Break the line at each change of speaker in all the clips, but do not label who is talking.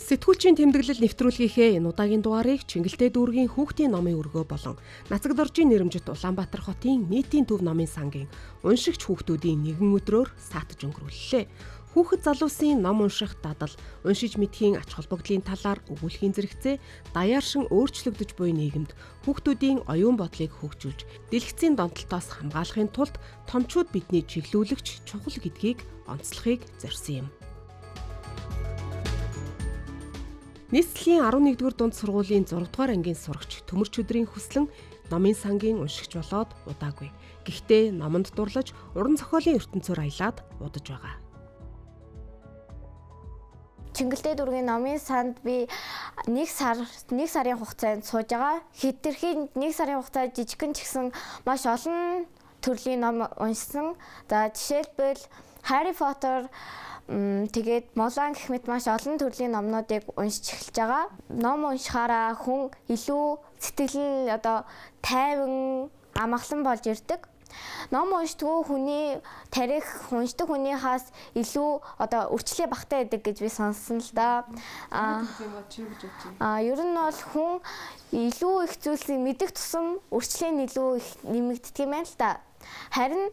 Сэтгүүлчийн тэмдэглэл нэвтрүүлгийнхээ энэ удаагийн дугаарыг Чингэлтэй дүүргийн хүүхдийн номын өргөө болон Нацагдоржийн нэрэмжит Улаанбаатар хотын нийтийн төв номын сангийн уншигч хүүхдүүдийн нэгэн өдрөөр саатаж өнгөрүүллээ. Хүүхэд залуусын ном унших дадал, уншиж мэдхийн ач холбогдлын талаар өгүүлэхийн зэрэгцээ даяаршин өөрчлөгдөж буй нийгэмд хүүхдүүдийн оюун бодлыг хөгжүүлж, дэлгэцийн донтолтоос хамгаалахын тулд томчууд бидний чиглүүлэгч чухал гэдгийг онцлохыг зорьсон юм. Нийслэлийн 11-р дунд сургуулийн 6-р ангийн сурагч Төмөрч өдрийн хүслэн номын сангийн уншигч болоод удаагүй. Гэхдээ номонд дурлаж уран зохиолын ертөнцөөр аялаад удаж байгаа.
Чингэлтэй дүүргийн номын санд би нэг сарын хугацаанд сууж байгаа. Хэтэрхийн нэг сарын хугацаанд жижигхэн ч гэсэн маш олон төрлийн ном уншсан. За жишээлбэл Harry Potter тэгээд Мулан гэх мэт маш олон төрлийн номнуудыг уншиж эхэлж байгаа. Ном уншихаараа хүн илүү сэтгэл нь тайван, амгалан болж ирдэг. Ном уншдаггүй хүний тарих уншдаг хүнийхээс илүү өрчлөө багтаа байдаг гэж би сонссон л да. Ер нь бол хүн илүү их зүйлсийг мэдэх тусам өрчлөө нь илүү их нэмэгддэг юм байна л да. Харин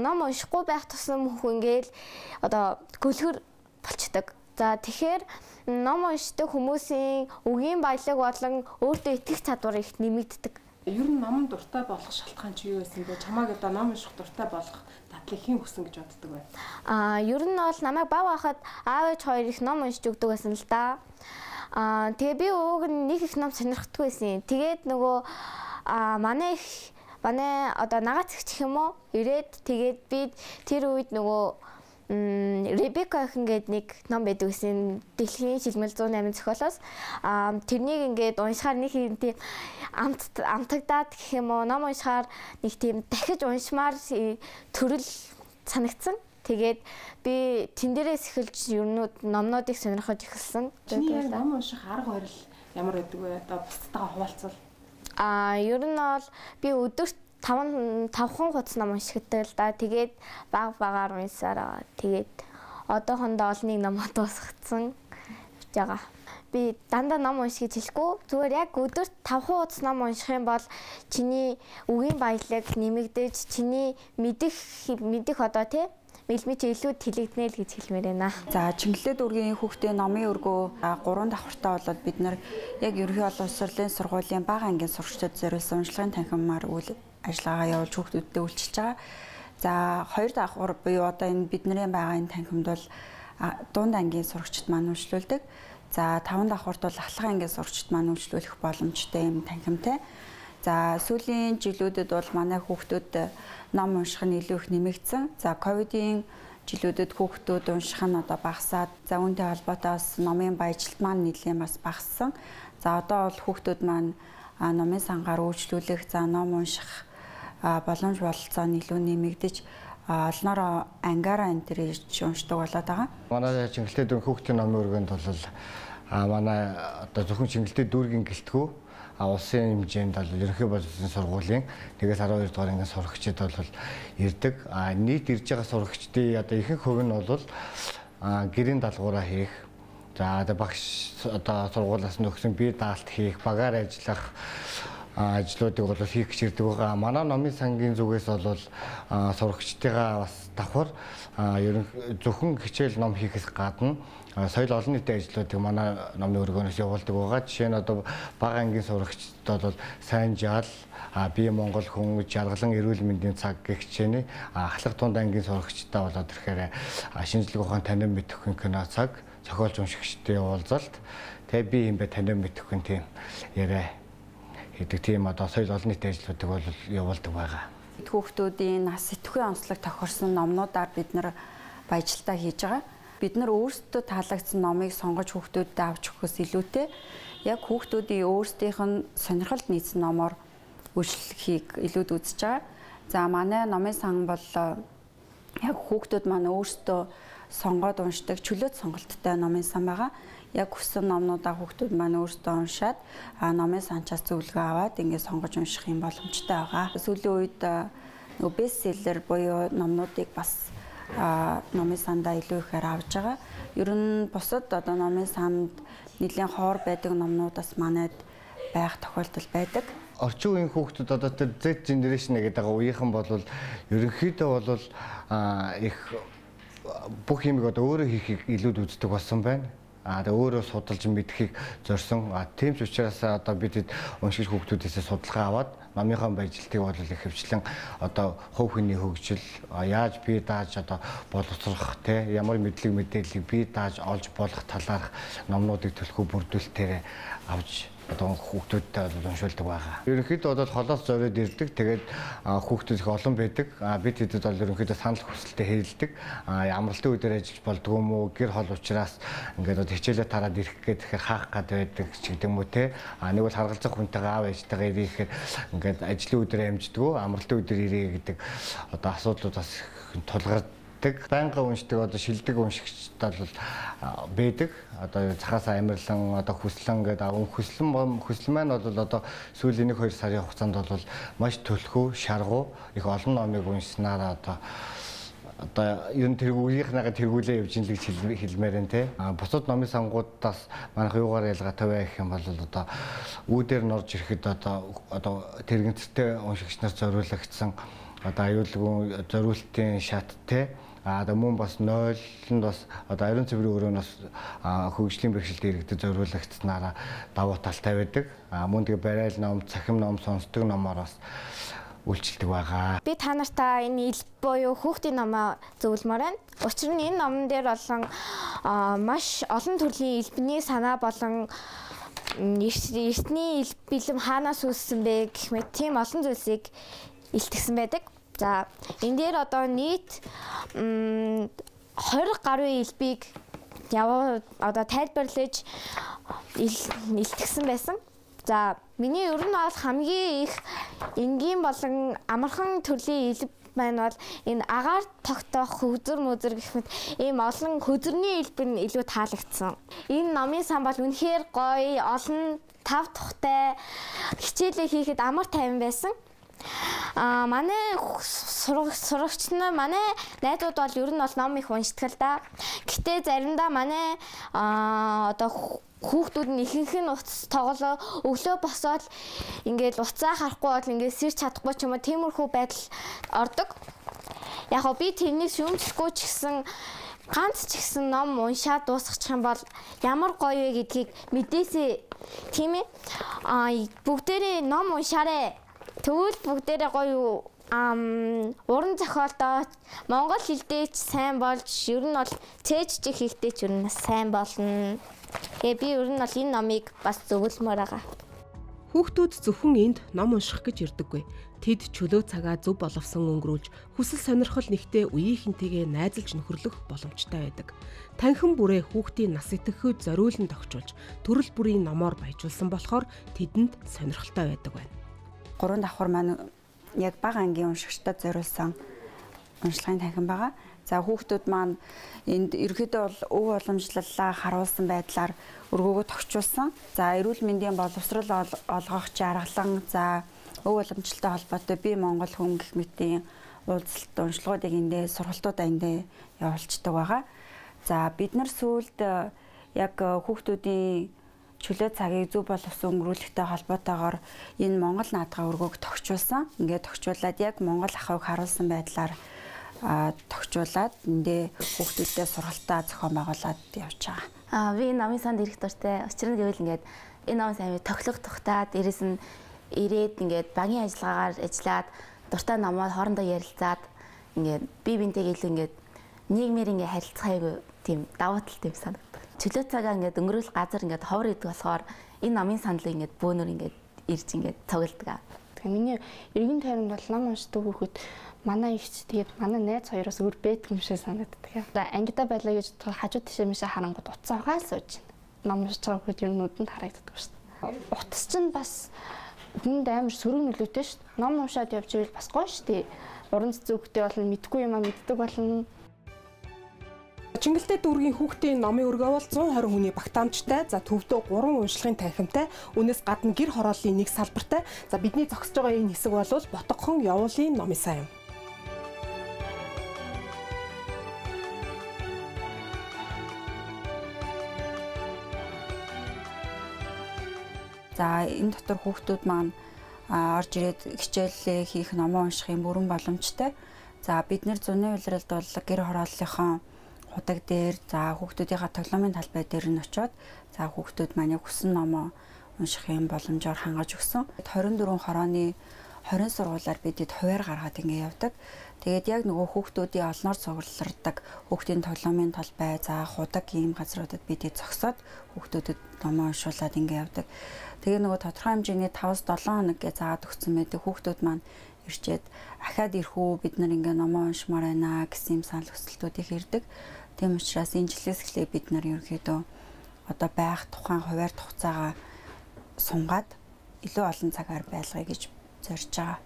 ном уншихгүй байх тусам хүн ингээл гөлгөр болчдөг. За тэгэхээр ном уншдаг хүмүүсийн үгийн баялаг болон өөртөө итгэх чадвар их нэмэгддэг.
Ер нь номон дуртай болох шалтгаан чи юу байсан бэ? Чамайг ном унших дуртай болох дадлыг хэн хүсэн гэж боддог вэ?
Ер нь бол намайг бага байхад аав ээж хоёр их ном уншиж өгдөг байсан л да. Тэгээ би ууг нэг их ном сонирхдаггүй байсан. Тэгээд нөгөө манай нагаац гэх юм уу ирээд тэгээд би тэр үед нөгөө Ребека ингээд нэг ном байдаг гэсэн дэлхийн шилмэл 108 зохиолоос тэрнийг ингээд уншихаар нэг юм тийм амтагдаад гэх юм уу ном уншихаар нэг тийм дахиж уншмаар төрөл санагдсан. Тэгээд би тэн дээрээс эхэлж номнуудыг сонирхож эхэлсэн.
Чиний ном унших арга барил ямар байдаг вэ? Бусдаа хуваалцвал.
Ер нь бол би өдөрт 5 хуудас ном уншигдаг л да. Тэгээд багаар уншсараа. Тэгээд одоохондоо олныг номоо дуусгацсан байгаа. Би дандаа ном унших гэж хэлэхгүй. Зүгээр яг өдөрт 5 хуудас ном унших юм бол чиний үгийн баялаг нэмэгдэж, чиний мэдэх мэлмич илүү тэлэгдэнэ л гэж хэлмээр байна.
За Чингэлтэй дүүргийн хүүхдийн номын өргөө 3 давхартай болоод бид нар яг ерөнхий олон улсын сургуулийн бага ангийн сурагчдад зориулсан уншлагын танхимаар үйл ажиллагаагаа явуулж хүүхдүүдтэй үйлчилж байгаа. За 2 давхар буюу энэ бидний байгаа энэ танхимд бол дунд ангийн сурагчид маань үйлчлүүлдэг. За 5 давхарт бол ахлах ангийн сурагчид маань үйлчлүүлэх боломжтой юм танхимтай. За сүүлийн жилүүдэд бол манай хүүхдүүд ном унших нь илүү их нэмэгдсэн. За ковидын жилүүдэд хүүхдүүд унших нь багасаад, за үүнтэй холбоотой бас номын баяжилт маань нэлээд бас багассан. За одоо бол хүүхдүүд маань номын сангаар үйлчлүүлэх, за ном унших боломж бололцоо нь илүү нэмэгдэж олноороо ангаараа энэ төр ирж уншдаг болоод байгаа.
Манай Чингэлтэй дүүргийн хүүхдийн номын өргөнд бол манай зөвхөн Чингэлтэй дүүргийн гэлтгүү улсын хэмжээнд бол ерөнхий боловсролын сургуулийн 1-12 дугаар ангийн сурагчид бол ирдэг. Нийт ирж байгаа сурагчдын ихэнх хувь нь бол гэрийн даалгавраа хийх, за багш сургуулиас нөхсөн бие даалт хийх, багаар ажиллах ажлуудыг бол хийх гэж ирдэг байгаа. Манай номын сангийн зүгээс бол сурагчдыгаа бас давхар зөвхөн хичээл ном хийхээс гадна соёл олон нийтийн ажлуудыг манай номын өргөнөөс явуулдаг байгаа. Жишээ нь бага ангийн сурагчдад бол сайн жаал, бие Монгол хүн, жаргалан эрүүл мэндийн цаг гэх хичээний ахлах тунд ангийн сурагчдаа болоод ирэхээр шинжлэх ухаан танин мэдэхгүй кино цаг, зохиолч уншигчдын уулзалт, тэгээ би юм бэ танин мэдэхгүй тийм яриа гэдэг тийм соёл олон нийтийн ажлуудыг бол явуулдаг байгаа.
Хүүхдүүдийн нас сэтгүүлийн онцлог тохирсон номнуудаар бид нар баяжилтаа хийж байгаа. Бид нар өөрсдөө таалагдсан номыг сонгож хүүхдүүдэд авч өгөхөөс илүүтэй яг хүүхдүүдийн өөрсдийнх нь сонирхолд нийцсэн номоор үйлчлэхийг илүүд үзэж байгаа. За манай номын сан бол яг хүүхдүүд маань өөрсдөө сонгоод уншдаг чөлөөт сонголттой номын сан байгаа. Яг хүссэн номнуудаа хүүхдүүд маань өөрсдөө уншаад номын санчаас зөвлөгөө аваад ингээд сонгож унших юм боломжтой байгаа. Сүүлийн үед бестселлер буюу номнуудыг бас номын сандаа илүү ихээр авж байгаа. Ер нь бусад одоо номын санд нэлийн хоор байдаг номнуудаас манайд байх тохиолдол байдаг.
Орчин үеийн хүүхдүүд одоо тэр Z generation гэдэг үеийнхэн бол ерөнхийдөө бол их бүх юмыг одоо өөрөө хийхийг илүүд үздэг болсон байна. Тэгээ өөрөө судалж мэдхийг зорьсон. Тийм ч учраас одоо бид уншигч хүүхдүүдээс судалгаа аваад номынхаа баяжилтыг бол их хөвчлэн одоо хувь хүний хөгжил яаж бие дааж одоо боловсрох те ямар мэдлэг мэдээллийг бие дааж олж болох талаарх номнуудыг төлхөө бүрдүүлэлтээр авч одоо хүүхдүүдтэй уншуулдаг байгаа. Ерөнхийдөө бол холоос зориод ирдэг. Тэгээд хүүхдүүд их олон байдаг. Бид хэдэд бол ерөнхийдөө санал хүсэлтэд хэлдэг. Амралтын үеэр ажиллаж болдгоо юм уу? Гэр хол учраас ингээд хичээлээ тараад ирэх гэхээр хаах гад байдаг ч гэдэг юм уу те. Нэг бол харгалзах хүнтэйгээ аав ээжтэйгээ ирэх гэхээр ингээд ажлын үеэр амждгоо, амралтын үеэр ирээ гэдэг одоо асуудлуудаас тулгардаг. Байнга уншдаг одоо шилдэг уншигчдад бол байдаг. Одоо цахаас амирлан одоо хүслэн гэдэг хүслэн маань бол одоо сүүлийн 1-2 сарын хугацаанд бол маш төлхөө, шаргуу их олон номыг уншсанаар одоо ер нь тэргүүлийнхнийгаа тэргүүлээ явж ин л гэж хэлмээр энэ те. Бусад номын сангуудаас манайх юугаар ялгаатай вэ гэх юм бол одоо үүдээр норж ирэхэд одоо тэрэгцтэй уншигч нар зориулагдсан одоо аюулгүй зориултын шат те. Одоо мөн бас 0-нд бас одоо ариун цэврийн өрөөнөөс хөгжлийн бэрхшээлд иргэдэд зориулагдсанараа давуу талтай байдаг. Мөн тэгээ барайл ном, цахим ном, сонсдог номоор бас үйлчилдэг байгаа.
Би та нартай энэ ил буюу хүүхдийн номоо зөвлөмөр байна. Учир нь энэ номон дээр болон маш олон төрлийн элбэний санаа болон эртний ил бэлэм хаанаас үүссэн бэ гэх мэт тийм олон зүйлсийг илтгэсэн байдаг. За энэ дээр одоо нийт 20 гаруй элбийг одоо тайлбарлаж илтгэсэн байсан. За миний ер нь бол хамгийн их энгийн болон амархан төрлийн элб маань бол энэ агаар тогтоох хөзөр мөзөр гэх мэт ийм олон хөзөрний элб нь илүү таалагдсан. Энэ номын сан бол үнэхээр гоё, олон тав тухтай хичээлээ хийхэд амар тайван байсан. Манай сурагч нар манай найзууд бол ер нь бол ном их уншдаг л да. Гэтэ заримдаа манай одоо хүүхдүүд нь ихэнх нь утас тоглоо өглөө босоод ингээд уцаа харахгүй бол ингээд сэрч чадахгүй ч юм уу тиймэрхүү байдал ордог. Яг би тэрнийг шүүмжлэхгүй ч гэсэн ганц ч гэсэн ном уншаад дуусгачих юм бол ямар гоё вэ гэдгийг мэдээсээ тийм ээ. Бүгдээрээ ном уншаарэ. Тэгвэл бүгдээрээ гоё уран зохиолдоо монгол хэлдээ ч сайн болж ер нь бол цээжж хийхдээ ч ер нь сайн болно. Тэгээ би ер нь бол энэ номыг бас зөвлөмөр байгаа.
Хүүхдүүд зөвхөн энд ном унших гэж ирдэггүй. Тэд чөлөө цагаа зөв боловсон өнгөрүүлж хүсэл сонирхол нэгтээ үеийнхэнтэйгээ найзалж нөхөрлөх боломжтой байдаг. Танхим бүрээ хүүхдийн нас итгэхэд зориулан тогтчулж төрөл бүрийн номоор баяжуулсан болохоор тэдэнд сонирхолтой байдаг байна.
3 давхар маань яг бага ангийн уншигчдад зориулсан уншлагын танхим байгаа. За хүүхдүүд маань энд ерөөдөө бол өв уламжлалаа харуулсан байдлаар өргөөгөө тогтчулсан. За эрүүл мэндийн боловсрол олгох жаргалан, за өв уламжлалтай холбоотой би Монгол хүн гэх мэтийн уулзалт уншлагуудыг эндээ сургалтуудаа эндээ явуулцдаг байгаа. За бид нар сүүлд яг хүүхдүүдийн чөлөө цагийг зөв боловсон өнгөрүүлэхтэй холбоотойгоор энэ Монгол наадгай өргөөг тогтчулсан. Ингээд тогтчуулаад яг Монгол ахуйг харуулсан байдлаар тогтчуулаад эндээ хүүхдүүдтэй сургалтаа зохион байгуулад явж байгаа.
Би намын санд ирэх дуртай. Учир нь гэвэл ингээд энэ номын сайн тоглох тухтаад дээрэс нь ирээд ингээд багийн ажиллагаагаар ажиллаад дуртай номоо хоорондоо ярилцаад ингээд бие биентэйгээ илүү ингээд нийгмээр ингээд харилцах айгүй тийм давуу талтай юм санагдав. Чөлөө цагаа ингээд өнгөрөөх газар ингээд ховор идэг болохоор энэ номын саналыг ингээд бөөнөр ингээд ирж ингээд цугладаг.
Тэгээ миний эргэн тойронд бол ном уншдаг хүүхэд манай ихч тэгээд манай найз хоёроос өөр бэдэг юм шиг санагддаг. Ангидаа байлаа гэж хажуу тишээ мишээ харангууд утсаа угаал сууж байна. Ном уншиж байгаа хүүхэд ер нь нүдэнд харагддаг шүү дээ. Утас чинь бас үүнд амар сөрөг нөлөөтэй шүү дээ. Ном уншаад явж ивэл бас гоё шүү дээ. Уран зохиолтой болно, мэдгүй юм мэддэг болно.
Чингэлтэй дүүргийн хүүхдийн номын өргөө бол 120 хүний багтаамжтай, за төвдөө 3 уншлагын танхимтай, үүнээс гадна гэр хорооллын нэг салбартай. За бидний зогсож байгаа энэ хэсэг бол Ботгохон явуулын номын сан юм.
За энэ дотор хүүхдүүд маань орж ирээд хичээлээ хийх, номоо унших юм бүрэн боломжтой. За бид нэр зуны улиралд бол гэр хорооллынхон худаг дээр за хүүхдүүдийнхээ тоглоомын талбай дээр нь очиод за хүүхдүүд маань хүссэн номоо унших юм боломжоор хангаж өгсөн. 24 хорооны 20 сургуулиар бидэд хуваар гаргаад ингэ явдаг. Тэгээд яг нөгөө хүүхдүүдийн олноор цуглардаг хүүхдийн тоглоомын талбай за худаг ийм газруудад бидэд зогсоод хүүхдүүдэд номоо уншуулад ингэ явдаг. Тэгээ нөгөө тодорхой хэмжээний 5-7 хоног гэж заагаад өгсөн байдаг. Хүүхдүүд маань ирчээд ахаад ирэх үү бид нар ингээ номоо уншмаар байна гэсэн юм санал хүсэлтүүдийг ирдэг. Тийм учраас энэ жилээс эхлээ бид нар ерөнхийдөө одоо байх тухайн хуваар хугацаагаа сунгаад илүү олон цагаар байлгая гэж зорж байгаа.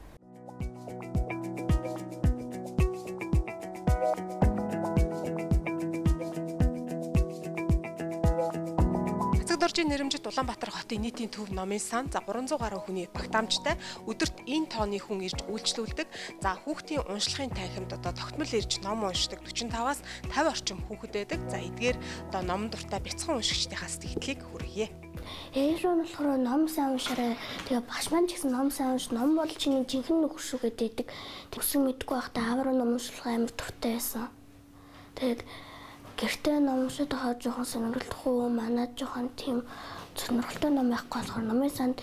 Доржийн нэрэмжит Улаанбаатар хотын нийтийн төв номын сан за 300 гаруй хүний багтаамжтай өдөрт энэ тонны хүн ирж үйлчлүүлдэг. За хүүхдийн уншлагын танхимд одоо тогтмол ирж ном уншдаг 45-аас 50 орчим хүүхэд байдаг. За эдгээр одоо ном дуртай бяцхан уншигчдийнхаас сэтгэлийг хүргье.
Ээжрүү нь болохоор ном сайн уншаарай. Тэгээ багш маань ч гэсэн ном сайн унш, ном бол чиний жинхэнэ нөхөр шүү гэдэг. Тэгсэн мэдгүй байхдаа аавраа ном уншлах амар төвтэй байсан. Тэгээд гэртээ ном уншаад байгаа жоохон сонирхолтой манад жоохон тийм сонирхолтой ном байхгүй болохоор номын санд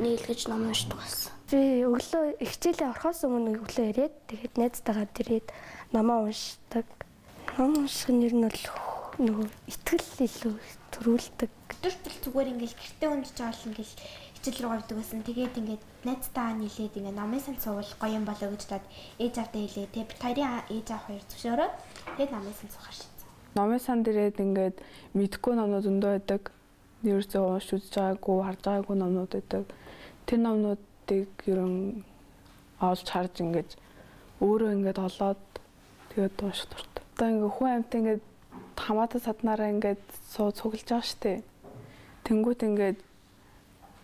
нийлгэж ном уншдаг болсон.
Би өглөө хичээлээ орохоос өмнө өглөө ирээд тэгээд найзтайгаа ирээд номоо уншдаг. Ном унших нь бол нөгөө итгэл илүү төрүүлдэг.
Өдөрт зүгээр ингээл гэртээ уншиж байгаа л ингээл хичээл рүү явдаг байсан. Тэгээд ингээд найзтайгаа нийлээд ингээд номын санд суувал гоё юм болоо гэж таад ээж авдаа хэлээ. Тэгээд хоёрын ээж аав хоёр зөвшөөрөө тэгээд номын санд суухаар шийдсэн.
Номын санд ирээд ингээд мэдхгүй номнууд зөндөө байдаг. Ерөөсөө уншиж үзэж байгаагүй, харж байгаагүй номнууд байдаг. Тэр номнуудыг ерөн олж харж ингээд өөрөө ингээд олоод тэгээд унших дуртай. Одоо ингээд хүн амьтан ингээд хамаатан саднараа ингээд цуглаж байгаа штэ. Тэнгүүт ингээд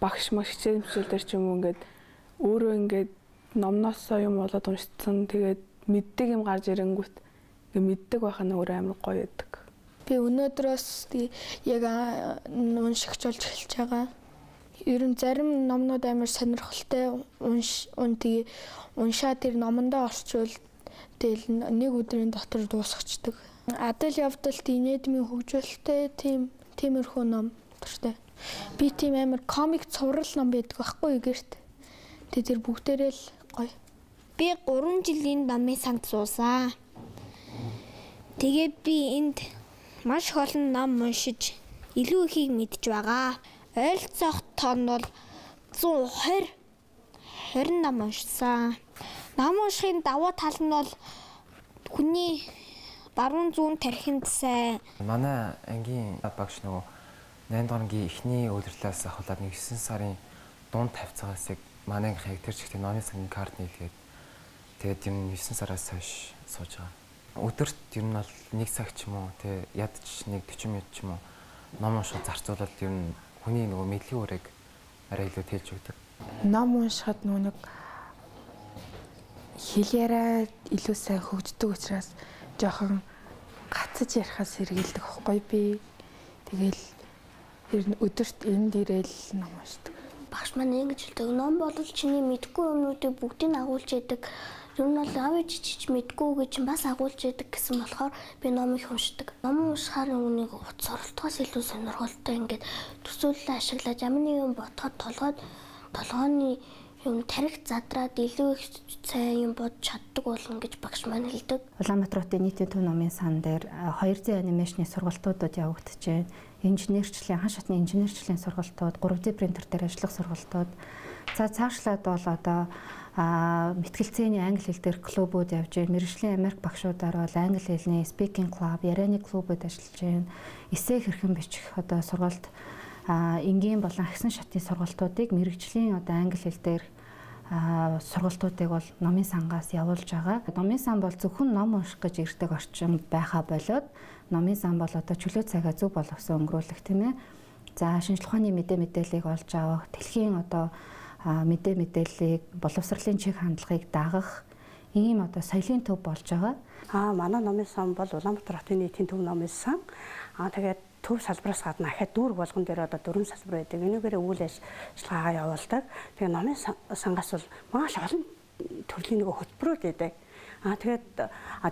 багш хичээл мчээлдэр ч юм уу ингээд өөрөө ингээд номноосоо юм болоод уншсан. Тэгээд мэддэг юм гарч ирэнгүүт мэддэг байх нь өөр амар гоё байдаг.
Би өнөөдрөөс яг уншигч болж эхэлж байгаа. Ер нь зарим номнууд амар сонирхолтой тэгээ уншаад тэр номондоо орчвол тэгэл нэг өдрийн дотор дуусчихдаг. Адал явдалт инэдмийн хөгжүүлэлттэй тиймэрхүү ном дуртай. Би тийм амар комик цуврал ном байдаг байхгүй гэрт. Тэр бүгдээрээ л гоё.
Би 3 жилийн номын санд суусан. Тэгээд би энд маш их олон ном уншиж илүү ихийг мэдж байгаа. Ойролцоох тон бол 120 ном уншсан. Ном уншихын давуу тал нь бол хүний баруун зүүн тархинд сайн.
Манай ангийн багш нөгөө 8 дугаар ангийн эхний удирлаас ахуулаад 9 сарын дунд тавьцаагаас манай анги тэр чигтээ номын сангийн карт нийлгээд тэгээд юм 9 сараас хойш сууж байгаа. Өдөрт ер нь бол 1 цаг ч юм уу тий ядч нэг 40 минут ч юм уу ном унших зарцуулаад ер нь хүний нөгөө мэдлэгийн үрийг арай илүү тэлж өгдөг.
Ном уншихад нөгөө нэг хэл яриа илүү сайн хөгждөг учраас жоохон гацаж ярихаас сэргийлдэг байхгүй би. Тэгэл ер нь өдөрт энд ирээл ном уншдаг.
Багш маань ингэж хэлдэг. Ном бол чиний мэдгүй юмнуудыг бүгдийг агуулж яадаг. Ер нь бол аав ээж мэдгүй гэж бас агуулж яадаг гэсэн болохоор би ном их уншдаг. Ном уншихаар үнийг утас оролтоос илүү сонирхолтой ингээд төсөөлөл ашиглаж ямар нэгэн бодоход толгойн юм тарих задраад илүү их сайн юм бодож чаддаг болно гэж багш маань хэлдэг.
Улаанбаатар хотын нийтийн төв номын сан дээр 2D анимашны сургалтуудад явагдаж байна. Инженерчлэлийн хан шатны инженерчлэлийн сургалтууд, 3D принтер дээр ажиллах сургалтууд. За цаашлаад бол одоо мэтгэлцээний англи хэл дээр клубүүд явж байна. Мэргэжлийн Америк багшуудаар бол англи хэлний speaking club, ярианы клубүүд ажиллаж байна. Эссе хэрхэн бичих одоо сургалт энгийн болон агсан шатны сургалтуудыг мэргэжлийн одоо англи хэл дээр сургалтуудыг бол номын сангаас явуулж байгаа. Номын сан бол зөвхөн ном унших гэж ирдэг орчин байхаа болоод номын сан бол одоо чөлөө цагаа зөв боловсон өнгөрүүлэх тийм ээ. За шинжлэх ухааны мэдээллийг олж авах, дэлхийн одоо мэдээллийг боловсролын чиг хандлагыг дагах ийм одоо соёлын төв болж байгаа.
Манай номын сан бол Улаанбаатар хотын нийтийн төв номын сан. Тэгээд төв салбараас гадна ахаад дүүрэг болгон дээр одоо 4 салбар байдаг. Энүүгээрээ үйл ажиллагаагаа явуулдаг. Тэгээ номын сангаас бол маш олон төрлийн нэг хөтөлбөрүүд байдаг. Тэгээд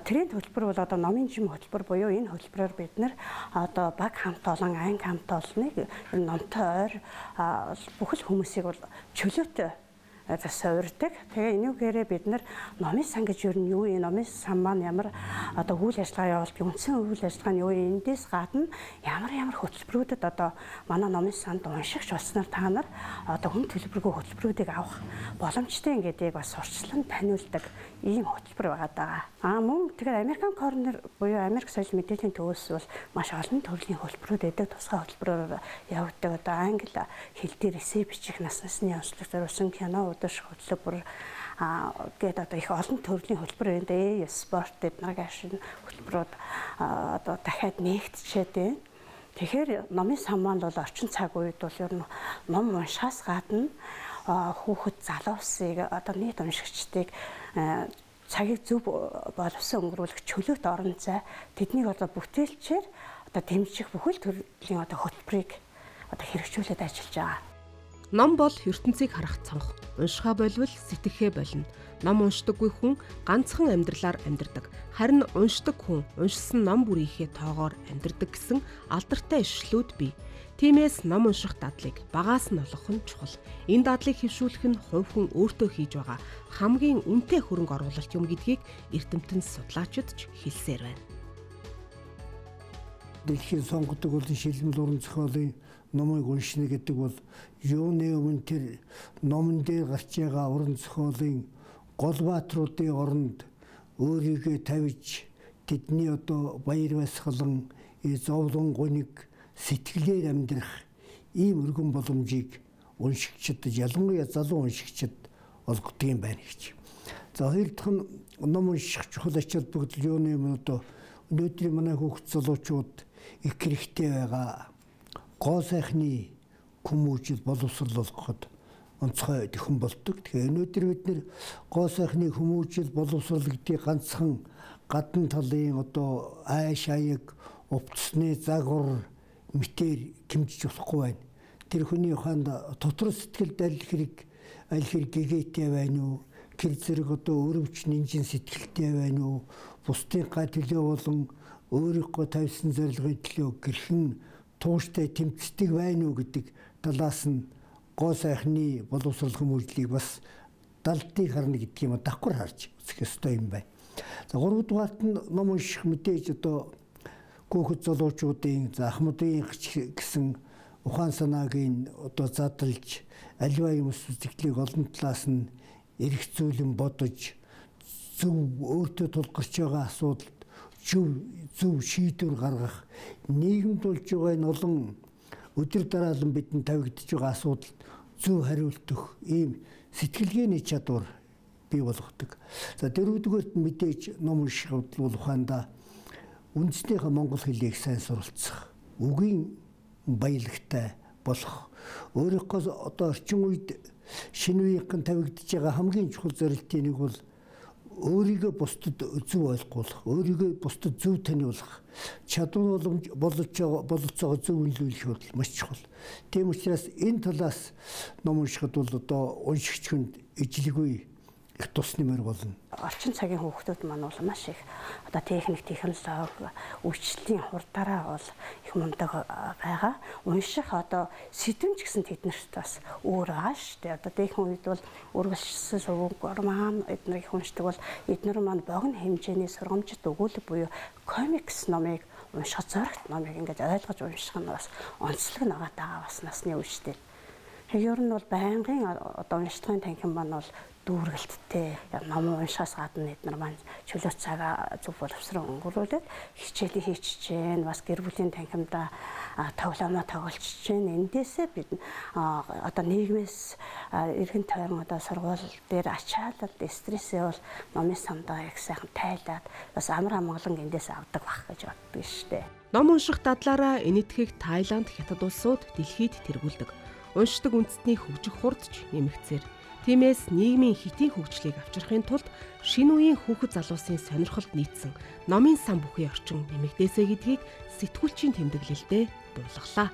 тренд хөтөлбөр бол одоо номын жим хөтөлбөр буюу энэ хөтөлбөрөөр бид нэр одоо баг хамт олон анги хамт олныг номтой ойр бүхэл хүмүүсийг бол чөлөөтэй суурьдаг. Тэгээ энүүгээрээ бид нар номын сан гэж юу юу юм, номын сан маань ямар одоо үйл ажиллагаа явуулдаг, үндсэн үйл ажиллагаа нь юу юм, эндээс гадна ямар хөтөлбөрүүдэд одоо манай номын санд уншигч болсноор та нар одоо хүн төлбөргүй хөтөлбөрүүдийг авах боломжтой ингэдэг бас сурчлан таниулдаг ийм хөтөлбөр байгаа. Мөн тэгэхээр American Corner буюу Америк соёл мэдээллийн төвөөс бол маш олон төрлийн хөтөлбөрүүд байдаг. Тусгай хөтөлбөрөөр явагддаг. Одоо англи хэл дээр эссе бичих насны онцлог зориулсан кино удирдах хөтөлбөр гээд одоо их олон төрлийн хөтөлбөр байна. Спорт эднэрийн ашиг хөтөлбөрүүд одоо дахиад нээгдчихэд байна. Тэгэхээр номын сан маань бол орчин цаг үед бол ер нь ном уншихаас гадна хүүхэд залуусыг одоо нийт уншигчдыг цагийг зөв боловсон өнгөрүүлэх чөлөөт орон зай тэднийг одоо бүтээлчээр одоо дэмжих бүхэл төрлийн одоо хөтөлбөрийг одоо хэрэгжүүлээд ажиллаж байгаа.
Ном бол ертөнцийг харах цонх. Уншихаа болвол сэтгэхээ болно. Ном уншдаггүй хүн ганцхан амьдралаар амьдардаг. Харин уншдаг хүн уншсан ном бүрийнхээ тоогоор амьдардаг гэсэн алдартай ишлүүд бий. Тиймээс ном унших дадлыг багаас нь олгох нь чухал. Энэ дадлыг хэвшүүлэх нь хувь хүн өөртөө хийж байгаа хамгийн үнэтэй хөрөнгө оруулалт юм гэдгийг эрдэмтэн судлаачид ч хэлсээр байна.
Дэлхийн сонгодог болон шилмэл уран зохиолын номыг уншина гэдэг бол юуны өмнө тэр номон дээр гарч байгаа уран зохиолын гол баатруудын оронд өөрийгөө тавьж тэдний одоо баяр баясгалан зовлон гуниг сэтгэлээр амьдрах ийм өргөн боломжийг уншигчид ялангуяа залуу уншигчид олгодог юм байна гэж. За хоёр дахь нь ном унших чухал ач холбогдол юуны өмнө одоо өнөөдрийн манай хүүхд залуучууд их хэрэгтэй байгаа гоо сайхны хүмүүжил боловсруулахад онцгой төхөн болдог. Тэгэхээр өнөөдөр бид нэр гоо сайхны хүмүүжил боловсрол гэдгийг ганцхан гадна талын одоо айш аяг увцсны загвар мэтэр хэмжиж болохгүй байна. Тэр хүний ухаанд дотор сэтгэлд аль хэрэг гэгээтэй байна уу? Гэр зэрэг одоо өрөвч нинжин сэтгэлтэй байна уу? Бусдын га төлөө болон өөрийнхөө тавьсан зорилгын төлөө гэрхэн тууштай тэмцдэг байна уу гэдэг талаас нь гоо сайхны боловсрол хүмүүжлийг бас далдыг харна гэдгийг юм давхар харж үзэх ёстой юм байна. За 3 дугаарт нь ном унших мэдээж одоо хүүхэд залуучуудын ахмадын гэсэн ухаан санааг одоо задлж аливаа юм сэтгэлийг олон талаас нь эргэцүүлэн бодож зөв өөртөө тулгарч байгаа асуудалд зөв шийдвэр гаргах нийгэмд болж байгаа энэ олон өдөр дараалан бидэнд тавигдж байгаа асуудалд зөв хариулт өгөх ийм сэтгэлгээний чадвар бий болгодог. За дөрөвдүгээрт мэдээж ном унших бол ухаандаа үндэснийхээ монгол хэлийг сайн суралцах, үгийн баялагтай болох, өөрийнхөө одоо орчин үед шинэ үеийнхэн тавигдж байгаа хамгийн чухал зорилтын нэг бол өөрийгөө бусдад зөв ойлгуулах, өөрийгөө бусдад зөв таниулах, чадвар бололцоогоо зөв үнэлүүлэх бол маш чухал. Тийм учраас энэ талаас ном уншихад бол одоо уншигч хүнд ижлэгүй их тус нэмэр болно.
Орчин цагийн хүүхдүүд маань бол маш их одоо техник, технологи, үйлчлэлийн хурдаараа бол их мундаг байгаа. Унших одоо сэдвэмж гэсэн тэднэрт бас өөр байгаа шүү дээ. Одоо дээхэн үед бол үргэлжлсэн сувгаар маань эднэрийг уншдаг бол эднэр маань богино хэмжээний сургамжит өгүүлэг буюу комикс номыг унших зоригт номыг ингэж ойлгож унших нь бас онцлог байгаа бас насны үе шүү дээ. Ер нь бол байнгын одоо уншлагын танхим маань бол дүүргэлттэй ном уншихаас гадна эдгээр маань чөлөө цагаа зөв боловсрон өнгөрүүлээд хичээлээ хийчихэж гэн бас гэр бүлийн танхимдаа тоглоомоо тоглолцож гэн эндээсээ бид одоо нийгмээс эргэн тойрон одоо сургууль дээр ачаалал стрессээ бол номын самдаа их сайхан тайлаад бас амар амгалан эндээс авдаг байх гэж боддог шүү дээ.
Ном унших дадлаараа энэтхэг Таиланд, Хятад улсууд дэлхийд тэргүүлдэг. Уншдаг үндэстний хөгжих хурдч нэмэгцээр Тиймээс нийгмийн хэтийн хөгжлийг авчрахын тулд шинэ үеийн хүүхэд залуусын сонирхолд нийцсэн номын сан бүхий орчин нэмэгдээсэй гэдгийг сэтгүүлчийн тэмдэглэлдээ дуулгалаа.